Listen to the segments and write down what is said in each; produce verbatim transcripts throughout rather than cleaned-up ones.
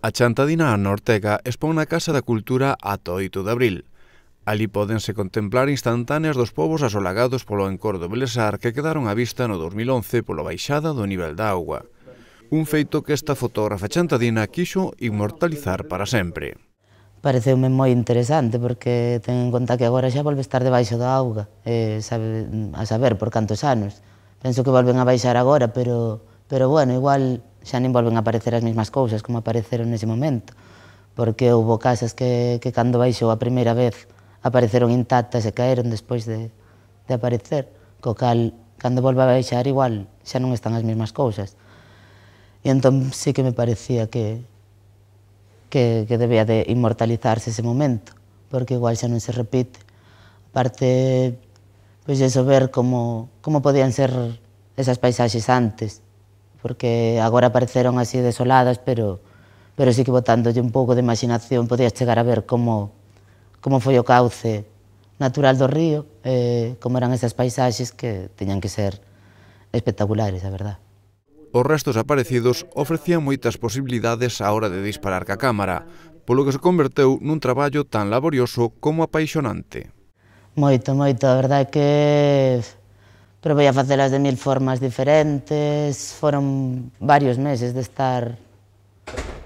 A Chantadina Ana Ortega expón na Casa da Cultura ata o oito de abril. Ali pódense contemplar instantáneas dos povos asolagados polo encordo belesar que quedaron á vista no dos mil once pola baixada do nivel da auga. Un feito que esta fotógrafa chantadina quixo inmortalizar para sempre. Pareceume moi interesante porque ten en conta que agora xa volve a estar debaixo da auga, eh, sabe, a saber por cantos anos. Penso que volven a baixar agora, pero, pero bueno, igual xa nin volven a aparecer as mesmas cousas como apareceron nese momento, porque houve casas que, que cando baixou a primeira vez apareceron intactas e caeron despois de, de aparecer, co cal, cando volve a baixar igual xa non están as mesmas cousas. E entón sí que me parecía que, que, que debía de inmortalizarse ese momento, porque igual xa non se repite. Aparte, pois eso, ver como, como podían ser esas paisaxes antes, porque agora apareceron así desoladas, pero, pero sí que botándolle un pouco de imaginación podías chegar a ver como, como foi o cauce natural do río, eh, como eran esas paisaxes que teñan que ser espectaculares, a verdad. Os restos aparecidos ofrecían moitas posibilidades á hora de disparar ca cámara, polo que se converteu nun traballo tan laborioso como apaixonante. Moito, moito, a verdade é que probei a facelas de mil formas diferentes, foron varios meses de estar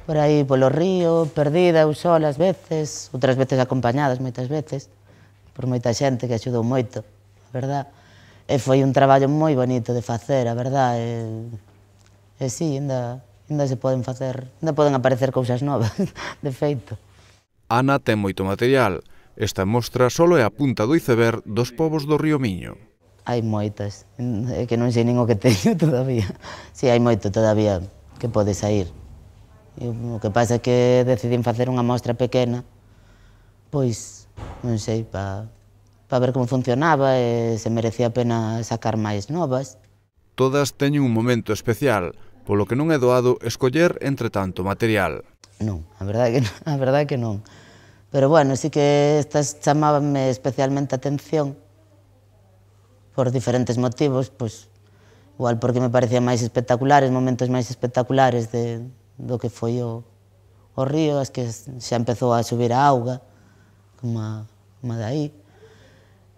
por aí polo río, perdida, eu sola ás veces, outras veces acompañadas moitas veces, por moita xente que axudou moito, a verdad. E foi un traballo moi bonito de facer, a verdad, e, e sí, ainda, ainda se poden facer, ainda poden aparecer cousas novas, de feito. Ana ten moito material. Esta mostra só é a punta do iceberg dos povos do río Miño. Hai moitas, é que non sei nin o que teño todavía. Si, hai moito todavía que pode sair. E o que pasa é que decidín facer unha mostra pequena, pois, non sei, para pa ver como funcionaba e se merecía a pena sacar máis novas. Todas teñen un momento especial, polo que non é doado escoller entre tanto material. Non, a verdade que non, a verdade que non. Pero bueno, sí que estas chamábanme especialmente a atención por diferentes motivos, pois, igual porque me parecían máis espectaculares, momentos máis espectaculares de, do que foi o, o río, as que xa empezou a subir a auga, como a, como a de aí.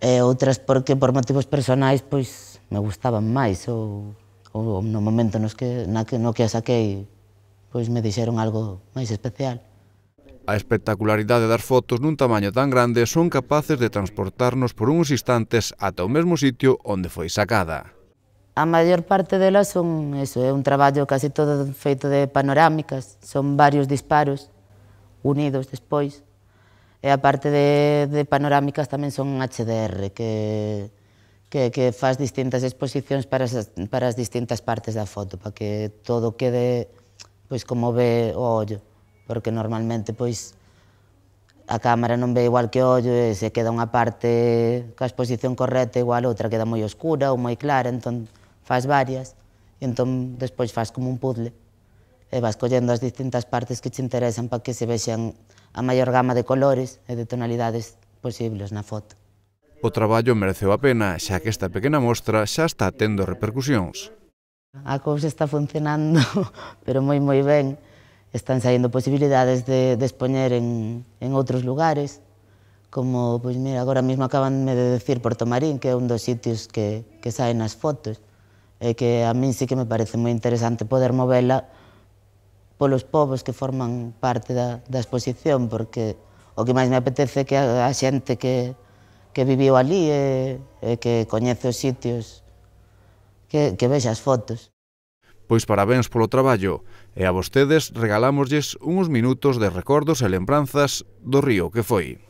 E outras porque por motivos personais, pois, me gustaban máis, ou, ou no momento nos que, na que, no que a saquei, pois me dixeron algo máis especial. A espectacularidade das fotos nun tamaño tan grande son capaces de transportarnos por uns instantes ata o mesmo sitio onde foi sacada. A maior parte delas son, eso, é un traballo case todo feito de panorámicas, son varios disparos unidos despois, e a parte de, de panorámicas tamén son H D R, que, que, que faz distintas exposicións para as, para as distintas partes da foto, para que todo quede pois como ve o ollo, porque normalmente pois a cámara non ve igual que o ollo e se queda unha parte coa exposición correcta igual outra queda moi oscura ou moi clara, entón faz varias e entón despois faz como un puzzle e vas collendo as distintas partes que te interesan para que se vexan a maior gama de colores e de tonalidades posibles na foto. O traballo mereceu a pena, xa que esta pequena mostra xa está tendo repercusións. A cousa está funcionando, pero moi moi ben. Están saindo posibilidades de, de expoñer en, en outros lugares, como, pois mira, agora mesmo acabanme de decir Porto Marín, que é un dos sitios que, que saen nas fotos, e que a min sí que me parece moi interesante poder movela polos povos que forman parte da, da exposición, porque o que máis me apetece é que a, a xente que, que viviu ali e, e que coñece os sitios, que, que vexa as fotos. Pois parabéns polo traballo, e a vostedes regalámoslles uns minutos de recordos e lembranzas do río que foi.